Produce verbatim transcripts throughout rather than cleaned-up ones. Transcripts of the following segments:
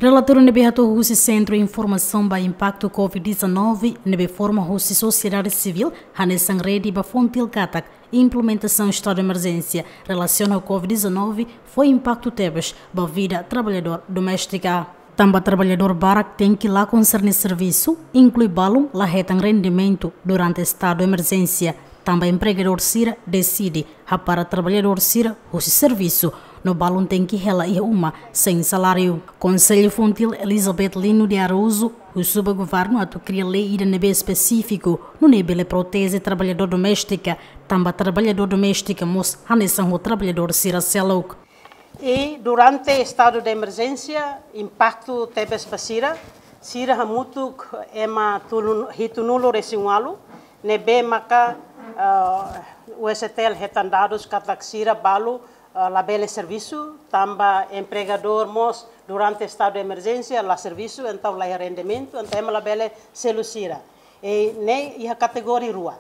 Relatóriu ne'ebé hato'o husi Sentru Informasaun ba Impaktu COVID dezanove, ne'ebé forma husi sosiedade sivíl, hanesan rede ba FONGIL katak implementasaun estadu de emerjénsia relasiona ho COVID dezanove fó impaktu tebes ba vida traballadór doméstika. Tanba traballadór barak tenke lakon sira-nia servisu, inklui balun la hetan rendimentu durante estadu de emerjénsia, tanba empregadór sira deside hapara traballadór sira husi servisu, no balun tenke hela iha uma sein saláriu. Konsellu FONGIL Elizabeth Lino de Araújo husu ba governu atu kria lei ida ne'ebé espesífiku, nune'e bele proteje traballadór doméstika, tanba traballadór doméstika mós hanesan ho traballadór sira seluk. I durante estadu de emerjénsia, impaktu tebes ba sira, sira hamutuk ema tulun, hitunulu-resin-ualu, ne'ebé maka, ah, U S T L hetan dadus katak sira balu, ah, labele servisu, tanba empregadór mós durante estadu de emerjénsia la servisu, entaun la iha rendimentu, entaun ema labele selu sira. I ne'e iha kategoria rua.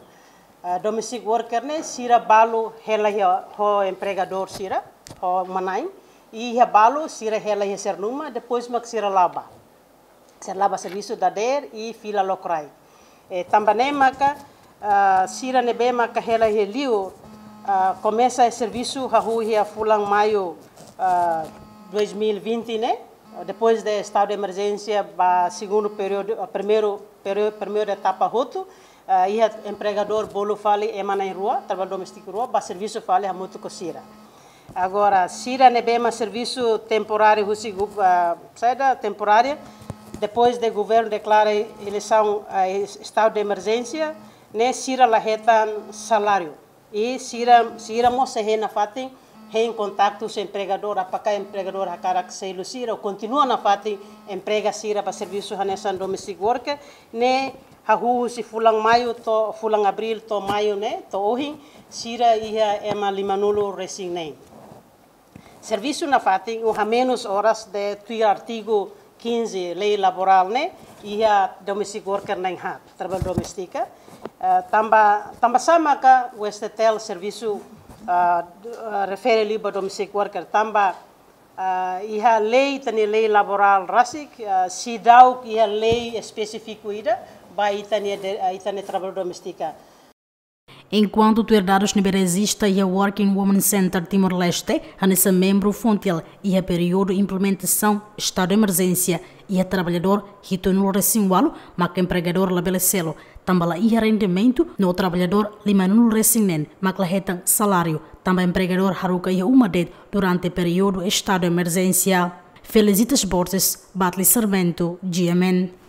Ah, domestic worker ne'e sira balu hela iha ho empregadór sira, ho uma-na'in, i iha balu sira hela iha sira-nia uma, depois mak sira la'o ba. Sira la'o ba servisu dadeer i fila lokraik. E, tanba ne'e maka, ah, sira ne'ebé maka hela iha liur, ah, komesa servisu hahú iha fulan Maiu, ah, dois mil e vinte ne'e, depois de estadu de emerjénsia ba segundu períodu, ah, primeiru, períodu, primeira etapa hotu, ah, iha empregadór bolu fali ema na'in rua, traballadór doméstiku rua, ba servisu fali hamutuk ho sira. Agora, sira ne'ebé mak servisu temporáriu husi gu-, ah, saida temporária, depois de governu deklara eleisaun, ah, es-, estadu de emerjénsia, ne'e sira la hetan saláriu. I sira, sira mós sei hein nafatin, hein kontaktu husi empregadór, apakah empregadór hakarak selu sira, ou kontinua nafatin emprega sira ba servisu hanesan domestic worker, ne'e hahú husi fulan Maiu to'o, fulan Abríl to'o Maiu ne'e, to'o ohin, sira iha ema limanulu-resin-neen. Servisu nafatin, ou hamenus oras de tuir artigu quinze, lei laborál ne'e, iha domestic worker na'in haat, traballadór doméstika. Eh, tanba, tanba sá maka U S T L servisu, ah, d-, ah, refere liu ba domestic worker, tanba, ah, iha lei, ita-nia lei laborál rasik, ah, seidauk iha lei espesífiku ida ba ita-nia de-, ah, ita-nia traballadór doméstika. Enkuantu tuir dadus ne'ebé rejista iha Working Women Center Timor-Leste, hanesan membru FONGIL, iha períodu implementasaun estadu de emerjénsia, iha traballadór hitunulu-resin-ualu maka empregadór labele selu, tanba la iha rendimentu, no traballadór limanulu-resin-neen mak la hetan saláriu, tanba empregadór haruka iha uma de'it durante períodu estadu de emerjénsia. Felicitas Borges, Batli Sarmento, G M N.